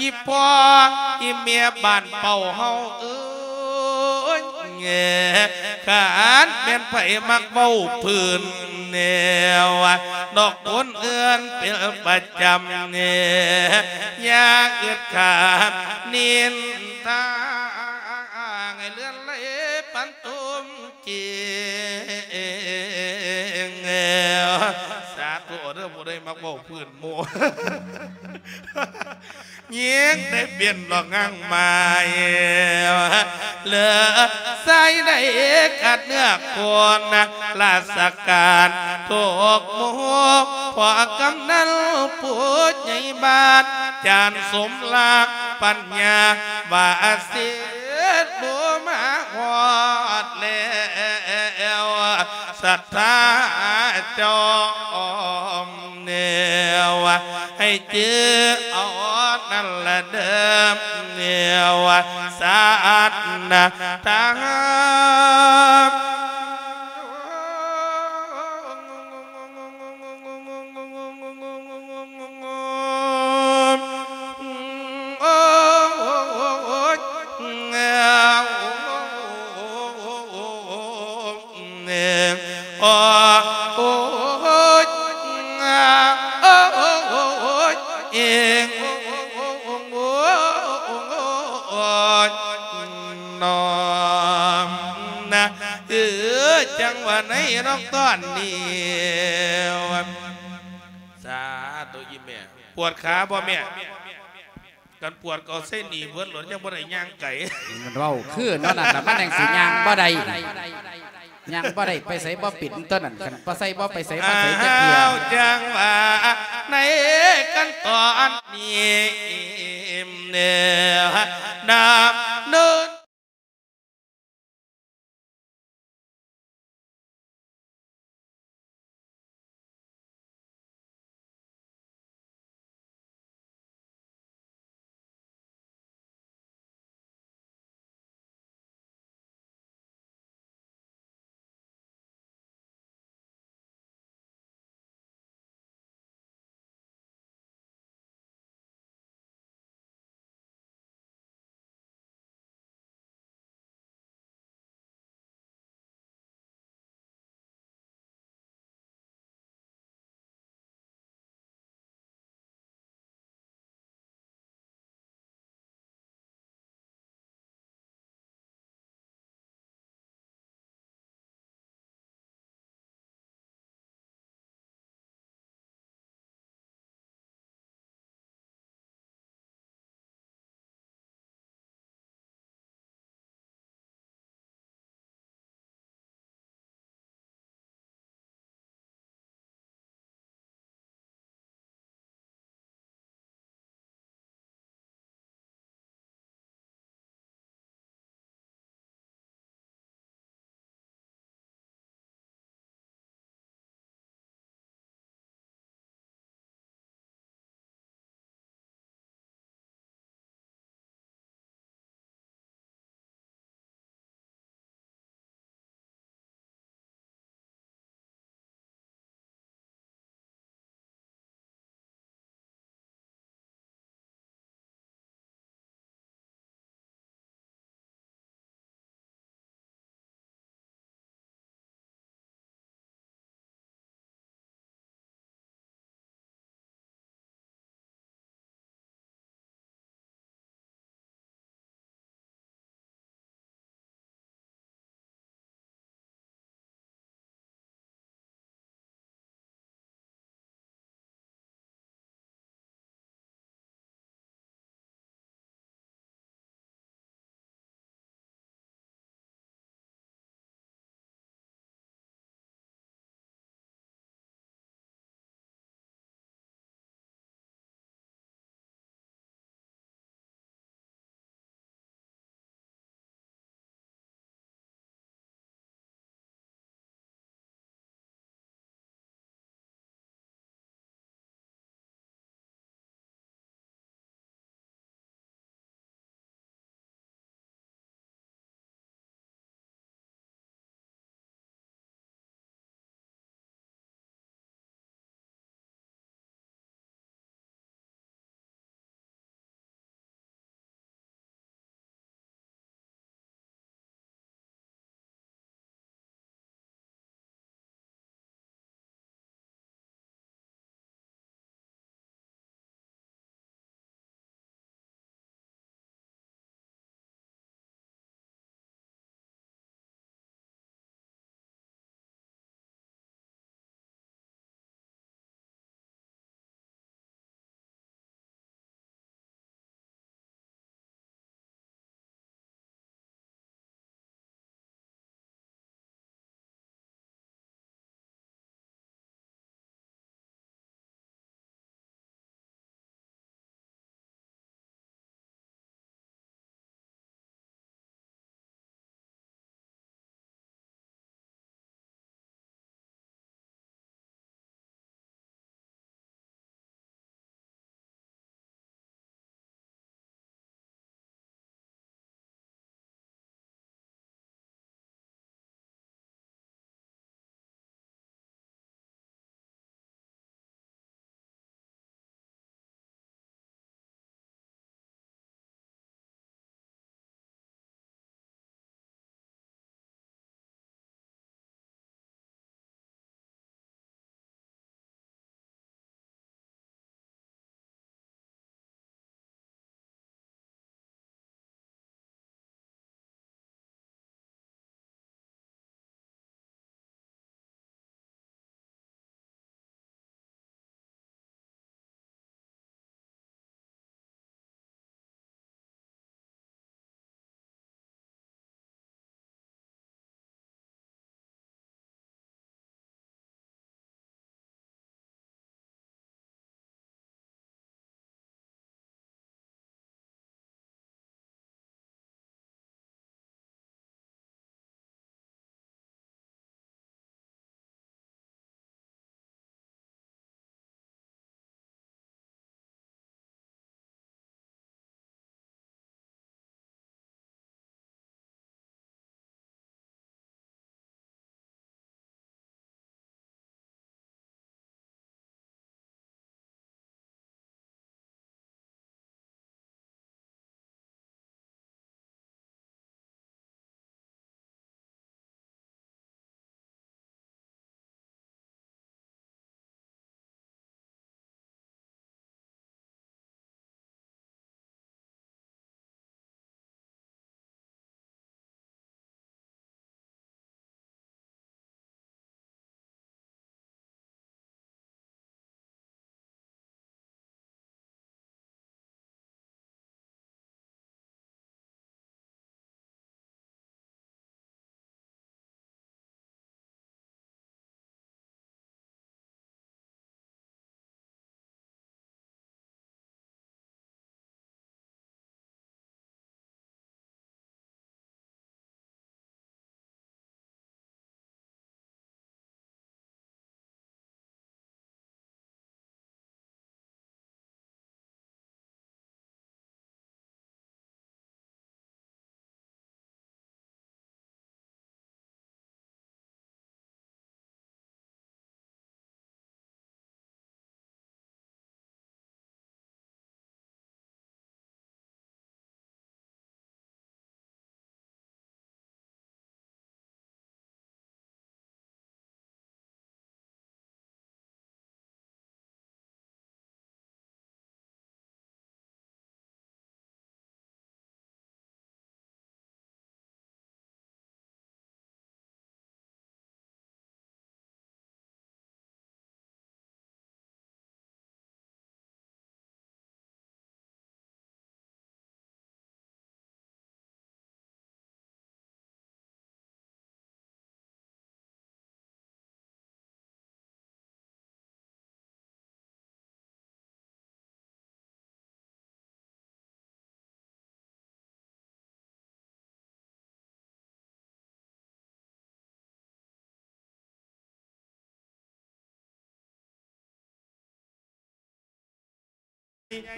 ອີ່ພໍ່ອີ່ແມ່ບ້ານເປົ້າເຮົາເອີຍ ຄັນແມ່ນໃຜມັກເວົ້າພື້ນແນວ ນອກຄົນອື່ນເປັນປະຈຳແນ່ ຢ່າອຶດຄາດນິນທາ ໃຫ້ເລື່ອນໄຫຼປັນຕົມຈິງ. ສາທຸເດີ ຜູ້ໃດມັກເວົ້າພື້ນໝູ່ ຍິງໄດ້ເປັນດອກຫາງໄມ້ ເລີດຊາຍໄດ້ກັດເນື້ອຄົນ ລາຊະການທຸກໝູ່ ພໍ່ກຳນັນຜູ້ໃຫຍ່ບ້ານ ຈານສົມລັກປັນຍາ ວ່າເສດໂລມາຮອດແລ້ວ ສັດທາຈອມແນວ ໃຫ້ຈື່ເອົານັ້ນລະເດີ ແນວສັດທາ. ເອີ ຈັ່ງວ່າໃນນອກຕອນນີ້ ສາທຸອີ່ແມ່ ປວດຂາບໍ່ແມ່? ຄັນປວດກໍເອົາໃສ່ໜີ່ເບິດໂລດ ຍັງບໍ່ໄດ້ຍ່າງໄກ. ມັນເວົ້າຄືແນວນັ້ນລະ ມັນຍັງຊິຍ່າງບໍ່ໄດ້ ຍ່າງບໍ່ໄດ້ ໄປໃສບໍ່ເປັນຕົວນັ້ນ ຄັນບໍ່ໃສ່ບໍ່ໄປໃສມາໃສຈັກເທື່ອ. ອ້າວ ຈັ່ງວ່າໃນຂັ້ນຕອນນີ້ແນ່ ດຳເນີນ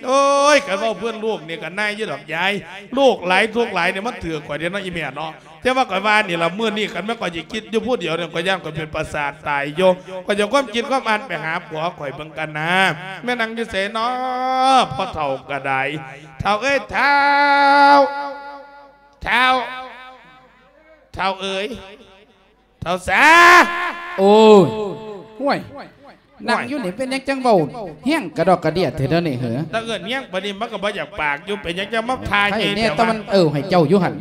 ໂອ້ຍ ຄັນເວົ້າເພື່ອນລູກນີ້ກໍນາຍຢູ່ດອກຍາຍ ລູກຫຼາຍທຸກຫຼາຍນີ້ມັນຖືກຂ້ອຍເດ້ເນາະ ອີ່ແມ່ເນາະ. ແຕ່ວ່າຂ້ອຍວ່ານີ້ລະ ມື້ນີ້ຄັນແມ່ນຂ້ອຍຊິຄິດຢູ່ຜູ້ດຽວນີ້ ຂ້ອຍຢ້ານຂ້ອຍເປັນປະສາດຕາຍຢູ່. ຂ້ອຍຈະຄວາມຄິດຄວາມອ່ານໄປຫາຜົວຂ້ອຍເບິ່ງກັນນາ ແມ່ນນັ່ງຢູ່ໃສເນາະ ພໍ່ເຖົ້າກໍໄດ້. ເຖົ້າເອີຍ ເຖົ້າ ເຖົ້າ ເຖົ້າເອີຍ ເຖົ້າສາ. ໂອ້ຍ ຫ້ວຍ ນັ່ງຢູ່ນີ້ເປັນຫຍັງຈັ່ງເວົ້າແຮງກະດອກກະເດຍແທ້ເດີນີ້ເຫີ? ຖ້າເອີ້ນແຮງປານນີ້ມັນກໍບໍ່ຢາກປາກຢູ່ ເປັນຫຍັງຈັ່ງມາທ່າໃຫຍ່ແທ້ວະ? ແຕ່ມັນເອີໃຫ້ເຈົ້າຢູ່ຫັ້ນ.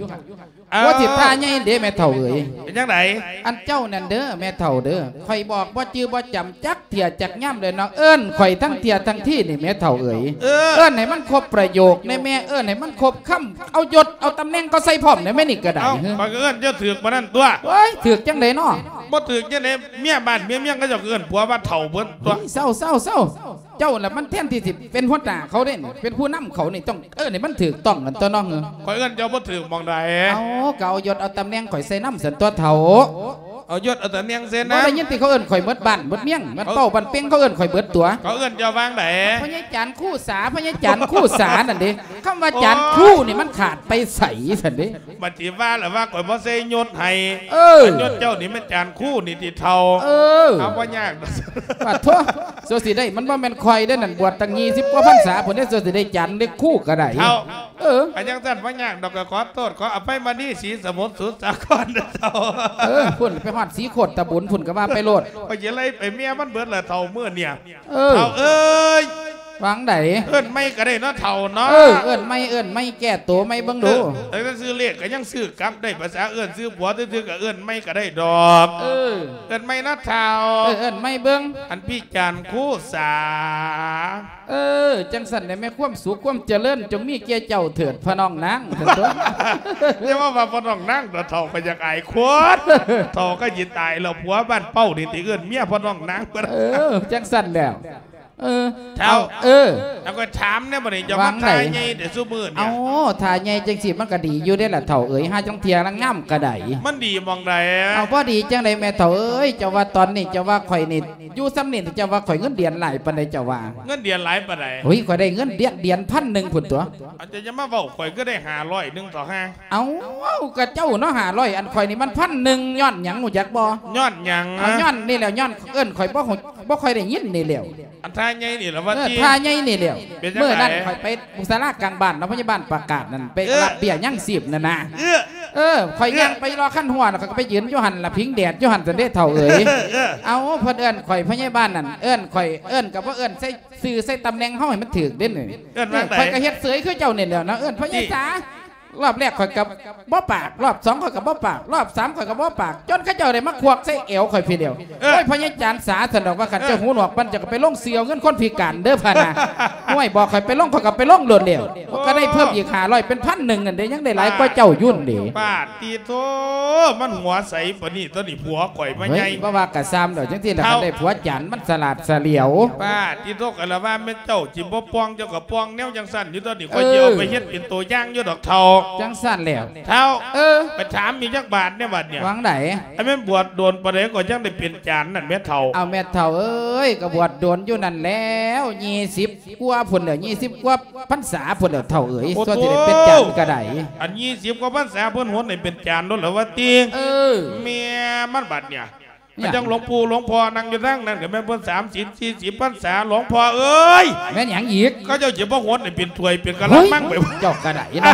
ເອີ ວ່າຊິທ່າໃຫຍ່ເດ້ແມ່ເຖົ້າເອີຍ. ເປັນຈັ່ງໃດ? ອັນເຈົ້ານັ້ນເດີແມ່ເຖົ້າເດີ ຂ້ອຍບອກບໍ່ຈື່ບໍ່ຈຳຈັກເທື່ອຈັກຍາມເລີຍເນາະ ເອີ້ນຂ້ອຍທັງເທື່ອທັງທີນີ້ແມ່ເຖົ້າເອີຍ. ເອີ ເອີ້ນໃຫ້ມັນຄົບປະໂຫຍກແດ່ແມ່ ເອີ້ນໃຫ້ມັນຄົບຄຳ ເອົາຍົດເອົາຕຳແໜ່ງເຂົາໃສ່ພ້ອມແດ່ແມ່ນີ້ກໍໄດ້. ເອົ້າ ເຮີ ຂ້ອຍກໍເອີ້ນເຈົ້າຖືກປານນັ້ນຕົວະ. ໂອ້ຍ ຖືກຈັ່ງໃດເນາະ? ບໍ່ຖືກຈັ່ງໃດ ເມຍບ້ານເມຍເມືອງເຂົາເຈົ້າກໍເອີ້ນຜົວວ່າເຖົ້າເບິດຕົວະ. ເອີຍ ເຊົາໆໆ ເຈົ້າລະມັນແທນທີ່ຊິເປັນຫົວໜ້າເຂົາເດ້ ເປັນຜູ້ນຳເຂົານີ້ ຕ້ອງເອີ້ນໃຫ້ມັນຖືກຕ້ອງກັນຕົວະນ້ອງເອີຍ. ຂ້ອຍເອີ້ນເຈົ້າບໍ່ຖືກໝ່ອງໃດ? ເອົ້າ ກໍເອົາຍົດເອົາຕຳແໜ່ງຂ້ອຍໃສ່ນຳຊັ້ນຕົວະເຖົ້າ. ເອົາຍົດເອົາຕຳແໜ່ງໃສ່ນຳ. ບໍ່ໄດ້ຍິນຕິ ເຂົາເອີ້ນຂ້ອຍເໝິດບ້ານເໝິດເມືອງ ມັນເປົ້າບ້ານເປັງ ເຂົາເອີ້ນຂ້ອຍເບິດຕົວະ. ເຂົາເອີ້ນເຈົ້າວ່າງໃດ? ພະຍາຈານຄູສາ ພະຍາຈານຄູສານັ້ນເດ້. ຄຳວ່າຈານຄູນີ້ມັນຂາດໄປໃສຊັ້ນເດ້? ບັດຊິວ່າລະວ່າຂ້ອຍບໍ່ໃສ່ຍົດໃຫ້. ເອີ ອັນຍົດເຈົ້ານີ້ແມ່ນຈານຄູນີ້ຕິເຖົ້າ. ເອີ ເອົາ ບໍ່ຍາກດອກ. ປາດໂທ້ ໂຊຊິໄດ້ ມັນບໍ່ແມ່ນຂ້ອຍເດ້ນັ້ນ ບວດຕັ້ງຍີ່ສິບກວ່າພັນສາພຸ້ນເດ້ ໂຊຊິໄດ້ຈານເລັກຄູກໍໄດ້. ເຖົ້າ ເອີ ອັນຈັ່ງຊັ້ນບໍ່ຍາກດອກ ກໍຂໍໂທດ ຂໍອະໄພມະນີ ສີສະໝຸດ ສຸດສາຄອນເດີເຖົ້າ. ເອີ ພຸ້ນໄປຮອດສີໂຄດຕະບຸນພຸ້ນກໍວ່າໄປໂລດ. ຂ້ອຍຊິໄລ່ໄປເມຍມັນເບິດລະເຖົ້າ ມື້ນີ້. ເອີ ເຖົ້າເອີຍ ວ່າງໃດ? ເອີ້ນໃໝ່ກໍໄດ້ເນາະເຖົ້າເນາະ. ເອີ ເອີ້ນໃໝ່ ເອີ້ນໃໝ່ ແກ້ໂຕໃໝ່ເບິ່ງດູ. ເອີ ແຕ່ວ່າຊື້ເລກກໍຍັງຊື້ກັບໄດ້ ພາສາເອີ້ນຊື່ຜົວຊື່ໆ ກໍເອີ້ນໃໝ່ກໍໄດ້ດອກ. ເອີ ເອີ້ນໃໝ່ເນາະເຖົ້າ. ເອີ ເອີ້ນໃໝ່ເບິ່ງ. ອັນພີ່ຈານຄູສາ. ເອີ ຈັ່ງຊັ້ນແຫຼະແມ່ ຄວາມສຸກຄວາມຈະເລີນຈົ່ງມີແກ່ເຈົ້າເຖີດ ພໍ່ນ້ອງນາງ ຊັ້ນຕົວະ. ຢ່າມາວ່າພໍ່ນ້ອງນາງເຖາະ ເຖົ້າກໍຢາກອາຍຄົນ. ເຖົ້າກໍຊິຕາຍແລ້ວ ຜົວບ້ານເປົ້ານີ້ຕິເອີ້ນເມຍພໍ່ນ້ອງນາງ. ເອີ ຈັ່ງຊັ້ນແຫຼະ. ເອີ ເຖົ້າ ເອີ ແລ້ວກໍຖາມແດ່ບັດນີ້ ເຈົ້າມາທ່າໃຫຍ່ແຕ່ຊຸມື້ນີ້. ເອົ້າ ທ່າໃຫຍ່ຈັ່ງຊີ້ມັນກໍດີຢູ່ເດ້ລະເຖົ້າເອີຍ ຫາຈັງເທື່ອລະງາມກໍໄດ້. ມັນດີໝ່ອງໃດ? ເອົ້າ ບໍ່ດີຈັ່ງໃດແມ່ເຖົ້າເອີຍ ເຈົ້າວ່າຕອນນີ້ ເຈົ້າວ່າຂ້ອຍນີ້ ຢູ່ສ່ຳນີ້ ເຈົ້າວ່າຂ້ອຍເງິນເດືອນຫຼາຍປານໃດ ເຈົ້າວ່າ? ເງິນເດືອນຫຼາຍປານໃດ? ໂອ້ຍ ຂ້ອຍໄດ້ເງິນເດືອນ ເດືອນພັນໜຶ່ງພຸ້ນຕົວະ. ເຈົ້າຢ່າມາເວົ້າ ຂ້ອຍຄືໄດ້ຫ້າຮ້ອຍໜຶ່ງເຖາະຫາ. ເອົ້າ ກໍເຈົ້າເນາະ ຫ້າຮ້ອຍ ອັນຂ້ອຍນີ້ມັນພັນໜຶ່ງ ຍ້ອນຫຍັງຮູ້ຈັກບໍ່? ຍ້ອນຫຍັງ? ເອົ້າ ຍ້ອນນີ້ແຫຼະ ຍ້ອນເອີ້ນຂ້ອຍບໍ່ ບໍ່ຄ່ອຍໄດ້ຍິນນີ້ແຫຼະ. ອັນທ່າໃຫຍ່ນີ້ລະວ່າຕິ? ເອີ ທ່າໃຫຍ່ນີ້ແຫຼະ. ມື້ນັ້ນຂ້ອຍໄປສາລາກາງບ້ານເນາະ ພະຍາບານປະກາດນັ້ນ ໄປ ເອີ ຮັບເບ້ຍຍັງຊີບນັ້ນນະ. ເອີ ເອີ ຂ້ອຍ ເອີ ຍ່າງໄປລໍຄັນຮົ້ວ ແລ້ວຂ້ອຍກໍໄປຢືນຢູ່ຫັ້ນລະ ພິງແດດຢູ່ຫັ້ນຊັ້ນເດ້ເຖົ້າເອີຍ. ເອີ ເອີ ເອົ້າ ເພິ່ນເອີ້ນຂ້ອຍພະຍາບານນັ້ນ ເອີ້ນຂ້ອຍ ເອີ້ນກໍບໍ່ເອີ້ນໃສ່ຊື່ໃສ່ຕຳແໜ່ງເຮົາໃຫ້ມັນຖືກເດ້ນີ້. ເອີ້ນວ່າໃດ? ຂ້ອຍກໍເຮັດເສີຍຄືເຈົ້ານີ້ແຫຼະນະ ເອີ້ນພະຍາສາ. ລອບແລກຂ້ອຍກໍບໍ່ປາກ ລອບສອງຂ້ອຍກໍບໍ່ປາກ ລອບສາມຂ້ອຍກໍບໍ່ປາກ ຈົນເຂົາເຈົ້າໄດ້ມາຄວັກໃສ່ແອວຂ້ອຍພີ້ດຽວ. ເອີ ໂອ້ຍ ພະຍາຈານສາ ຊັ້ນດອກວ່າ ຄັນເຈົ້າຫູໜວກປານ ເຈົ້າກໍໄປລົງຊື່ເອົາເງິນຄົນພິການເດີພະນະ. ໂອ້ຍ ບອກຂ້ອຍໄປລົງ ຂ້ອຍກໍໄປລົງໂລດແລ້ວ. ໂອ້ ກໍໄດ້ເພີ່ມອີກຫ້າຮ້ອຍເປັນພັນໜຶ່ງນັ້ນເດ້ ຍັງໄດ້ຫຼາຍກວ່າເຈົ້າຢູ່ນີ້. ປາດຕິໂທ ມັນຫົວໃສປານນີ້ ຕອນນີ້ຜົວຂ້ອຍມາໃຫຍ່. ເຮີ້ຍ ບໍ່ວ່າກະຊ່າງດອກ ຈັ່ງຊີ້ລະ ເຖົ້າ ຄັນໄດ້ຜົວຈານມັນສະຫຼາດສະຫຼຽວ. ປາດຕິໂທ ກໍລະວ່າແມ່ນເຈົ້າຊິບໍ່ປ່ອງ ເຈົ້າກໍປ່ອງແນວຈັ່ງຊັ້ນຢູ່ ຕອນນີ້ ເອີ ຂ້ອຍຊິເອົາໄປເຮັດເປັນຕົວຢ່າງຢູ່ດອກເຖົ້າ. ຈັ່ງຊັ້ນແຫຼະ. ເຖົ້າ ເອີ ໄປຖາມອີກຈັກບາດແດ່ບັດນີ້. ວ່າງໃດ? ອັນແມ່ນບວດດົນປານໃດກໍຈັ່ງໄດ້ເປັນຈານນັ້ນແມ່ເຖົ້າ? ເອົາແມ່ເຖົ້າເອີຍ ກໍບວດດົນຢູ່ນັ້ນແລ້ວ ຍີ່ສິບກວ່າພຸ້ນແຫຼະ ຍີ່ສິບກວ່າພັນສາພຸ້ນແຫຼະເຖົ້າເອີຍ. ໂອ້ ສ່ວນຊິໄດ້ເປັນຈານກໍໄດ້. ອັນຍີ່ສິບກວ່າພັນສາເພິ່ນຫົນໃຫ້ເປັນຈານໂລດລະວ່າຕິ? ເອີ ແມ່ມັນບັດນີ້. ຫຍັງ? ຈັ່ງຫຼວງປູ່ຫຼວງພໍ່ນັ່ງຢູ່ທາງນັ້ນ ກໍແມ່ນເພິ່ນສາມສິບສີ່ສິບພັນສາ. ຫຼວງພໍ່ເອີຍ ແມ່ນຫຍັງອີກ? ເຂົາເຈົ້າຊິບໍ່ຫົນໃຫ້ເປັນຖ້ວຍເປັນກະລະມັງໄປ? ເຈົ້າກໍໄດ້ເນາະ.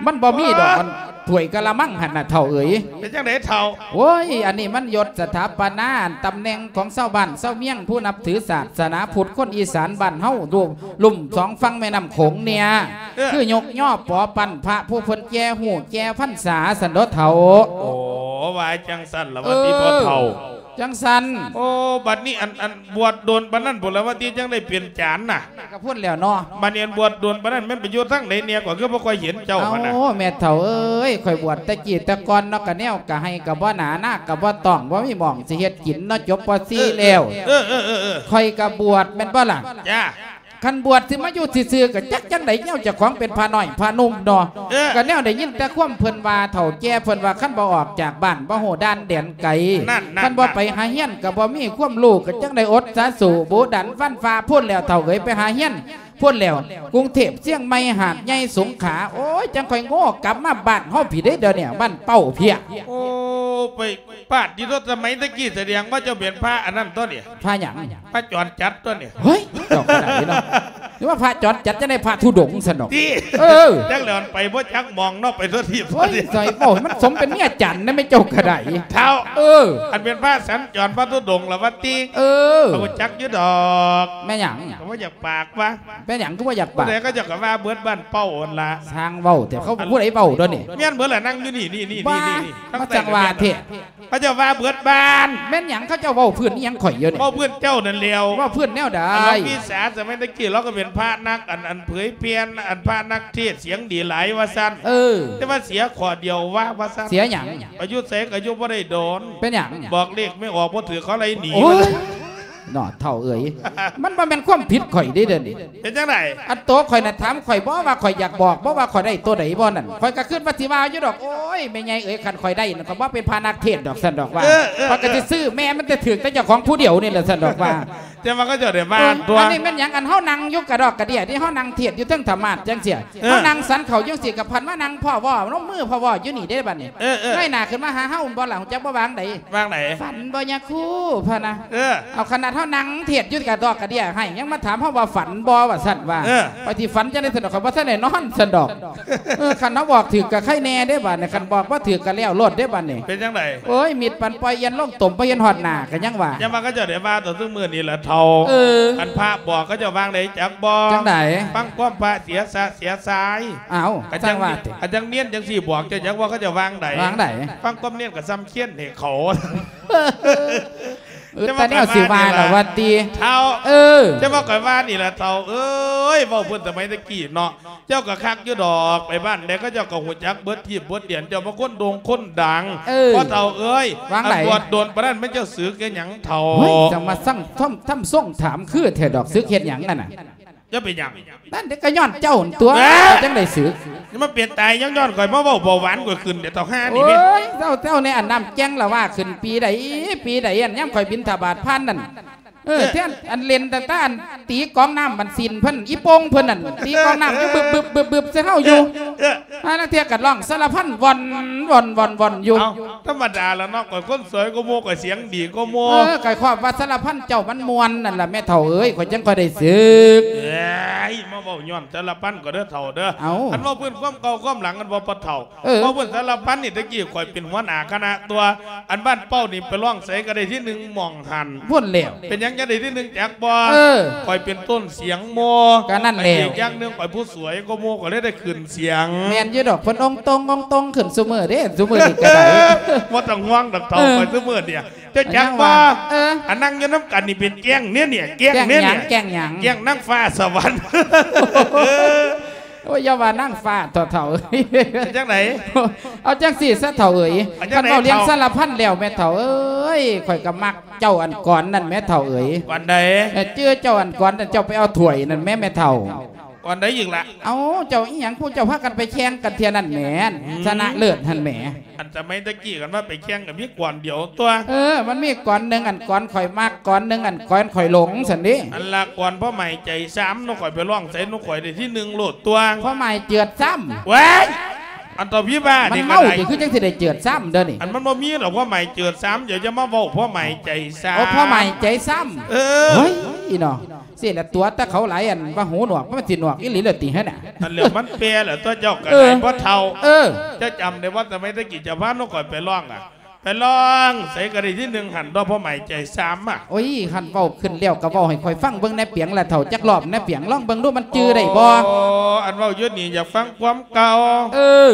ມັນບໍ່ມີດອກ ອັນຖ້ວຍກະລະມັງຫັ້ນນະເຖົ້າເອີຍ. ເປັນຈັ່ງໃດເຖົ້າ? ໂອ້ຍ ອັນນີ້ມັນຍົດສະຖາປະນາ ອັນຕຳແໜ່ງຂອງຊາວບ້ານຊາວເມືອງ ຜູ້ນັບຖືສາສະໜາພຸດ ຄົນອີສານບ້ານເຮົາ ລວມ ລຸ່ມສອງຝັ່ງແມ່ນ້ຳໂຂງເນ່ຍ. ເອີ ຄືຍົກຍໍປໍປັນພະຜູ້ເພິ່ນແກ່ຮູ້ແກ່ພັນສາຊັ້ນເນາະເຖົ້າ. ໂອ້ ວ່າຈັ່ງຊັ້ນລະວ່າຕິ ເອີ ພໍ່ເຖົ້າ. ຈັ່ງຊັ້ນ. ໂອ້ ບັດນີ້ອັນ ອັນບວດດົນປານນັ້ນພຸ້ນລະວ່າຕິ ຈັ່ງໄດ້ເປັນຈານນະ? ກໍພຸ້ນແລ້ວເນາະ. ບັດນີ້ອັນບວດດົນປານນັ້ນແມ່ນໄປຢູ່ທາງໃດແດ່ ຂ້ອຍຄືບໍ່ຄ່ອຍເຫັນເຈົ້າຫັ້ນນະ? ໂອ້ ແມ່ເຖົ້າເອີຍ ຂ້ອຍບວດແຕ່ກີ້ແຕ່ກ່ອນເນາະ ກະແນວກະໄຮ່ກະບໍ່ໜາ ນາກະບໍ່ຕ້ອງ ບໍ່ມີໝ່ອງຊິເຮັດກິນເນາະ ຈົບ ປໍສີ່ ເອີ ແລ້ວ. ເອີ ເອີ ເອີ ເອີ ເອີ ຂ້ອຍກະບວດແມ່ນບໍ່ລະ? ຈ້າ. ຄັນບວດຊິມາຢູ່ຊື່ໆ ກໍຈັກຈັ່ງໃດແນວເຈົ້າຂອງເປັນພະນ້ອຍພະໜຸ່ມເນາະ. ເອີ ກໍແນວໄດ້ຍິນແຕ່ຄວາມເພິ່ນວ່າ ເຖົ້າແກ່ເພິ່ນວ່າ ຄັນບໍ່ອອກຈາກບ້ານ ບໍ່ຮູ້ດ່ານແດນໄກ ນັ້ນຄັນບໍ່ໄປຫາຮຽນ ກໍບໍ່ມີຄວາມຮູ້ ກໍຈັ່ງໄດ້ອົດສາສູ້ ບູດັນຟັນຝ່າພຸ້ນແລ້ວ ເຖົ້າເອີຍ ໄປຫາຮຽນ ພຸ້ນແລ້ວ ກຸງເທບ ຊຽງໃໝ່ ຫາດໃຫຍ່ ສົງຂາ ໂອ້ຍ ຈັ່ງຄ່ອຍໂງ່ກັບມາບ້ານເຮົາພີ້ເດ້ ດຽວນີ້ ບ້ານເປົ້າພີ້. ໂອ້ ໄປປາດດີໂທດ ສະໄໝຕະກີ້ ສະແດງວ່າເຈົ້າເປັນພະອັນນັ້ນຕົວນີ້ ພະຫຍັງ? ພະຈອນຈັດຕົວນີ້. ເຮີ້ຍ ເຈົ້າກໍໄດ້ເນາະ ຫຼືວ່າພະຈອນຈັດ ຈັ່ງໃດ ພະທຸດົງຊັ້ນດອກ. ຕິ ເອີ ຈັກແລ້ວ ໄປບໍ່ຈັກໝ່ອງເນາະ ໄປທົ່ວທີບ. ໂອ້ຍ ໃສ່ເວົ້າໃຫ້ມັນສົມເປັນເມຍຈັນນະແມ່ ເຈົ້າກໍໄດ້ ເຖົ້າ. ເອີ ອັນເປັນພະສັນຈອນ ພະທຸດົງລະວ່າຕິ. ເອີ ເຂົາກໍຈັກຢູ່ດອກ. ແມ່ນຫຍັງ? ເຂົາບໍ່ຢາກ ປາກວະ ເປັນຫຍັງຄືບໍ່ຢາກປາກ? ຜູ້ໃດເຂົາເຈົ້າກໍວ່າເບິດບ້ານເປົ້າຫັ້ນລະ. ຊ່າງເວົ້າແທ້ ເຂົາຜູ້ໃດເວົ້າດອກນີ້? ແມ່ນເບິດລະ ນັ່ງຢູ່ນີ້ ນີ້ ນີ້ ນີ້ ນີ້ ມາຈັ່ງວ່າແທ້ ເຂົາເຈົ້າວ່າເບິດບ້ານ. ແມ່ນຫຍັງ ເຂົາເຈົ້າເວົ້າພື້ນອີ່ຫຍັງຂ້ອຍຢູ່ນີ້? ເວົ້າພື້ນເຈົ້ານັ້ນແຫຼ້ວ. ເວົ້າພື້ນແນວໃດ? ອັນເຮົາມີສາສະໄໝຕະກີ້ ເຮົາກໍເປັນພະນັກ ອັນ ອັນເຜີຍແຜ່ ອັນພະນັກເທດສຽງດີຫຼາຍວ່າຊັ້ນ. ເອີ ແຕ່ວ່າເສຍຂໍ້ດຽວວ່າ ວ່າຊັ້ນ. ເສຍຫຍັງ? ໄປຢູ່ໃສກໍຢູ່ບໍ່ໄດ້ດົນ. ເປັນຫຍັງ? ບອກເລກແມ່ອອກບໍ່ຖືກ ເຂົາໄລ່ໜີ. ໂອ້ຍ ເນາະ ເຖົ້າເອີຍ ມັນບໍ່ແມ່ນຄວາມຜິດຂ້ອຍເດ້ ດຽວນີ້. ເປັນຈັ່ງໃດ? ອັນໂຕຂ້ອຍນະ ຖາມຂ້ອຍບໍ່ວ່າຂ້ອຍຢາກບອກບໍ່ວ່າຂ້ອຍໄດ້ໂຕໃດບໍ່ນັ້ນ ຂ້ອຍກໍຄິດວ່າຊິວ່າຢູ່ດອກ. ໂອ້ຍ ແມ່ໃຫຍ່ເອີຍ ຄັນຂ້ອຍໄດ້ນັ້ນ ຂ້ອຍບໍ່ເປັນພະນັກເທດດອກ ຊັ້ນດອກວ່າ. ເອີ ເອີ ຂ້ອຍກໍຊິຊື້ແມ່ມັນແຕ່ຖືກແຕ່ເຈົ້າຂອງຜູ້ດຽວນີ້ແຫຼະ ຊັ້ນດອກວ່າ. ແຕ່ວ່າເຂົາເຈົ້າໄດ້ວ່າ ເອີ ຕົວະ ອັນນີ້ແມ່ນຫຍັງ? ອັນເຮົານັ່ງຢູ່ກະດອກກະເດຍ ທີ່ເຮົານັ່ງເທດຢູ່ເທິງທຳມາດຈັ່ງຊີ້ ເອີ ເຮົານັ່ງສັນເຂົ້າຢູ່ຈັ່ງຊີ້ ກໍພັນມານັ່ງພໍ້ວໍ້ ນົມມືພໍ້ວໍ້ຢູ່ນີ້ເດ້ບັດນີ້. ເອີ ເອີ ເງີຍໜ້າຂຶ້ນມາຫາເຮົາ ບໍ່ລະ ຮູ້ຈັກບໍ່ວ່າຈັ່ງໃດ? ວ່າຈັ່ງໃດ? ຝັນບໍ່ຍາຄູ ພະນະ. ເອີ ເອົາ ຂະໜາດເຮົານັ່ງເທດຢູ່ກະດອກກະເດຍໃຫ້ ຍັງມາຖາມເຮົາວ່າຝັນບໍ່ ວ່າຊັ້ນວ່າ. ເອີ ຂ້ອຍຊິຝັນຈັ່ງໃດຊັ້ນດອກ ຂ້ອຍບໍ່ທັນໄດ້ນອນຊັ້ນດອກ. ເອີ ຄັນເຮົາບອກຖືກກໍໄຄແນ່ເດ້ບັດນີ້ ຄັນບອກບໍ່ຖືກກໍແລ້ວໂລດເດ້ບັດນີ້. ເປັນຈັ່ງໃດ? ໂອ້ຍ ມິດປັນປ່ອຍ ອ່ຽນລົງຕົມ ບໍ່ເຫັນຮອດໜ້າກໍຍັງວ່າ. ຢ່າວ່າເຂົາເຈົ້າໄດ້ວ່າຕໍ່ຊຸມື້ນີ້ລະເຖົ້າ. ເອີ ອັນພະບອກເຂົາເຈົ້າວ່າໃດຈັກບໍ່? ຈັ່ງໃດ? ຟັງຄວາມພະເສຍສະເສຍຊາຍ. ອ້າວ ກໍຈັ່ງວ່າຕິ ອັນຈັ່ງເນນຈັ່ງຊີ້ບອກເຈົ້າຈັກວ່າເຂົາເຈົ້າວ່າໃດ? ວ່າໃດ? ຟັງຄວາມເນນກໍສ່ຳຄຽນໃຫ້ເຂົາ. ເອີ ແຕ່ວ່າແນວຊິວ່າລະວ່າຕິ ເຖົ້າ. ເອີ ແຕ່ວ່າຂ້ອຍວ່ານີ້ລະເຖົ້າເອີຍ ເວົ້າເພິ່ນສະໄໝແຕ່ກີ້ເນາະ ເຈົ້າກໍຄັກຢູ່ດອກ ໄປບ້ານໃດເຂົາເຈົ້າກໍຮູ້ຈັກເບິດທີບເບິດແດນ ເຈົ້າມາຄົນໂດ່ງຄົນດັງ. ເອີ ພໍ່ເຖົ້າເອີຍ ວ່າໃດ? ອັນບວດດົນປານນັ້ນແມ່ນເຈົ້າສຶກເຮັດຫຍັງເຖົ້າ? ໂອ້ຍ ຈັ່ງມາສັ່ງທຳ ທຳຊົງຖາມຄືແທ້ດອກ ສຶກເຮັດຫຍັງນັ້ນນະ? ຈະເປັນຫຍັງ? ນັ້ນເດ້ ກໍຍ້ອນເຈົ້າຫັ້ນຕົວະ. ເອີ ຈັ່ງໄດ້ສຶກ. ນີ້ມັນເປັນຕາຍຍ້ອນໆ ຂ້ອຍມາເວົ້າເບົາຫວານຂ້ອຍຂຶ້ນເດ້ ເຖົ້າຫ່ານີ້ແມ່. ໂອ້ຍ ເຈົ້າ ເຈົ້າແນ່ ອັນນ້ຳແຈງລະວ່າຂຶ້ນປີໃດ ປີໃດ ອັນຍາມຂ້ອຍບິນທະບາດຜ່ານນັ້ນ. ເອີ ເອີ ແທ້ ອັນເຫຼັ້ນຕັ້ງແຕ່ອັນຕີກອງນ້ຳ ອັນສິນເພິ່ນ ອີ່ໂປ່ງເພິ່ນນັ້ນ ຕີກອງນ້ຳຢູ່ບຶບໆໆໆໃສ່ເຮົາຢູ່. ເອີ ເອີ ຫາລາງເທື່ອກໍຮ້ອງສາລະພັນ ວ່ອນໆໆໆຢູ່. ເອົ້າ ທຳມະດາລະເນາະ ຂ້ອຍຄົນສວຍກວ່າໝູ່ ຂ້ອຍສຽງດີກວ່າໝູ່. ເອີ ຂ້ອຍຄອບວ່າສາລະພັນເຈົ້າມັນມ່ວນນັ້ນລະແມ່ເຖົ້າເອີຍ ຂ້ອຍຈັ່ງຄ່ອຍໄດ້ສຶກ. ເອີຍ ມາເວົ້າຍ້ອນສາລະພັນກໍເດີເຖົ້າເດີ. ເອົ້າ ອັນເວົ້າພື້ນຄວາມເກົ່າຄວາມຫຼັງ ອັນເວົ້າປະເຖົ້າ. ເອີ ເວົ້າພື້ນສາລະພັນນີ້ ແຕ່ກີ້ຂ້ອຍເປັນຫົວໜ້າຄະນະຕົວະ ອັນບ້ານເປົ້ານີ້ໄປຮ້ອງໃສກໍໄດ້ທີໜຶ່ງໝ່ອງຫັ້ນພຸ້ນແລ້ວ. ເປັນຫຍັງຈັ່ງໄດ້ທີໜຶ່ງຈັກບໍ່? ເອີ ຂ້ອຍເປັນຕົ້ນສຽງໝູ່. ກໍນັ້ນແຫຼ້ວ ອີກຢ່າງໜຶ່ງຂ້ອຍຜູ້ສວຍກວ່າໝູ່ ກໍເລີຍໄດ້ຂຶ້ນສຽງ. ແມ່ນຢູ່ດອກ ເພິ່ນອົງຕົງ ອົງຕົງຂຶ້ນຊຸມື້ເດ້ ຊຸມື້ນີ້ກໍໄດ້. ບໍ່ຕ້ອງຫ່ວງດອກເຖົ້າ ເອີ ຂ້ອຍຊຸມື້ນີ້ ເຈົ້າຈັກບໍ່? ເອີ ອັນນັ່ງຢູ່ນຳກັນນີ້ເປັນແກ້ງເນຍ ແກ້ງເນຍ ແກ້ງຫຍັງ? ແກ້ງນາງຟ້າສະຫວັນ. ໂອ້ຍ ຢ່າວ່ານາງຟ້າເຖົ້າໆ. ເປັນຈັ່ງໃດ? ເອົາຈັ່ງຊີ້ຊະເຖົ້າເອີຍ ຄັນເວົ້າເລື່ອງສາລະພັນແລ້ວແມ່ເຖົ້າເອີຍ ຂ້ອຍກໍມັກເຈົ້າອັນກ່ອນນັ້ນແມ່ເຖົ້າເອີຍ. ອັນໃດ? ເອີ ຈື່ເຈົ້າອັນກ່ອນນັ້ນ ເຈົ້າໄປເອົາຖ້ວຍນັ້ນແມ່ ແມ່ເຖົ້າ. ກ່ອນໃດອີກລະ? ເອົ້າ ເຈົ້າອີ່ຫຍັງ ພວກເຈົ້າພາກັນໄປແຂ່ງກັນເທື່ອນັ້ນແໝ ຊະນະເລີດຫັ້ນແໝ. ອັນສະໄໝແຕ່ກີ້ກັນວ່າໄປແຂ່ງກໍມີກ່ອນດຽວຕົວະ. ເອີ ມັນມີກ່ອນໜຶ່ງອັນກ່ອນຂ້ອຍມັກ ກ່ອນໜຶ່ງອັນກ່ອນຂ້ອຍຫຼົງຊັ້ນເດ້. ອັນລະກ່ອນພໍ່ໃໝ່ໃຈຊ້ຳ ໜູຂ້ອຍໄປຮ້ອງໃສ່ໜູຂ້ອຍໄດ້ທີໜຶ່ງໂລດຕົວະ. ພໍ່ໃໝ່ເຈີດຊ້ຳ ເວີຍ ອັນເຖົ້າຜີບ້ານີ້ ມັນເມົາຕິ ຄືຈັ່ງຊິໄດ້ເຈີດຊ້ຳເດີນີ້. ອັນມັນບໍ່ມີດອກພໍ່ໃໝ່ເຈີດຊ້ຳ ຢ່າ ຢ່າມາເວົ້າພໍ່ໃໝ່ໃຈຊ້ຳ. ໂອ້ ພໍ່ໃໝ່ໃຈຊ້ຳ. ເອີ ໂອ້ຍ ອີເນາະ. ຊີ້ລະຕົວະແຕ່ເຂົາຫຼາຍ ອັນວ່າຫູໜວກ ມັນຊິໜວກອີ່ຫຼີລະຕິຫັ້ນນະ. ອັນແລ້ວມັນແປລະຕົວະ ເຈົ້າກໍໄດ້ບໍ່ເຖົ້າ. ເອີ ເຈົ້າຈຳໄດ້ບໍ່ ສະໄໝແຕ່ກີ້ເຈົ້າພານ້ອງຂ້ອຍໄປຮ້ອງອະ ໄປຮ້ອງໃສກໍໄດ້ທີໜຶ່ງຫັ້ນ ດອກພໍ່ໃໝ່ໃຈຊ້ຳອະ. ໂອ້ຍ ຄັນເວົ້າຂຶ້ນແລ້ວກໍເວົ້າໃຫ້ຂ້ອຍຟັງເບິ່ງແດ່ປຽງລະເຖົ້າ ຈັກລອບແດ່ປຽງ ລອງເບິ່ງດູມັນຈື່ໄດ້ບໍ່? ອໍ ອັນເວົ້າຢູ່ນີ້ຢາກຟັງຄວາມເກົ່າ. ເອີ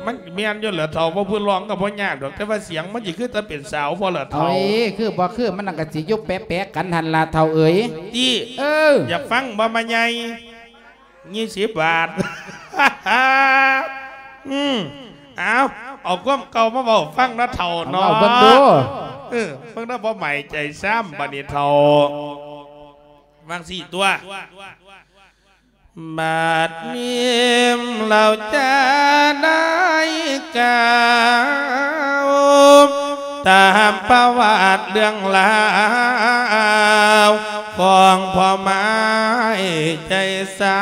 ມັນແມ່ນຢູ່ລະເຖົ້າ ເວົ້າພື້ນຮ້ອງກໍບໍ່ຍາກດອກ ແຕ່ວ່າສຽງມັນຊິຄືແຕ່ເປັນສາວບໍ່ລະເຖົ້າ? ໂອ້ຍ ຄືບໍ່ຄື ມັນກໍຊິຢູ່ແປະໆກັນຫັ້ນລະເຖົ້າເອີຍ. ຕິ ເອີ ຢາກຟັງບໍ່ ມາໃຫຍ່ ຍີ່ສິບບາດ. ອືມ ເອົາ ເອົາຄວາມເກົ່າມາເວົ້າຟັງເນາະເຖົ້າເນາະ ເອົາເວົ້າເບິ່ງດູ. ເອີ ເບິ່ງເດີ ພໍ່ໃໝ່ໃຈຊ້ຳ ບາດນີ້ເຖົ້າ ວ່າຈັ່ງຊີ້ຕົວະ. ບາດນີ້ເຮົາຈະໄດ້ກ່າວ ຕາມປະຫວັດເລື່ອງລາວ ຂອງພໍ່ໝ້າຍໃຈສາ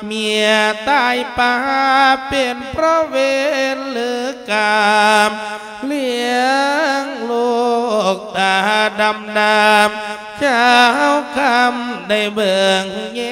ເມຍຕາຍປາເປັນເພາະເວນຫຼືກຳ ລ້ຽງລູກຕາດຳໆ ເຈົ້າຄຳໄດ້ເບິ່ງແຍ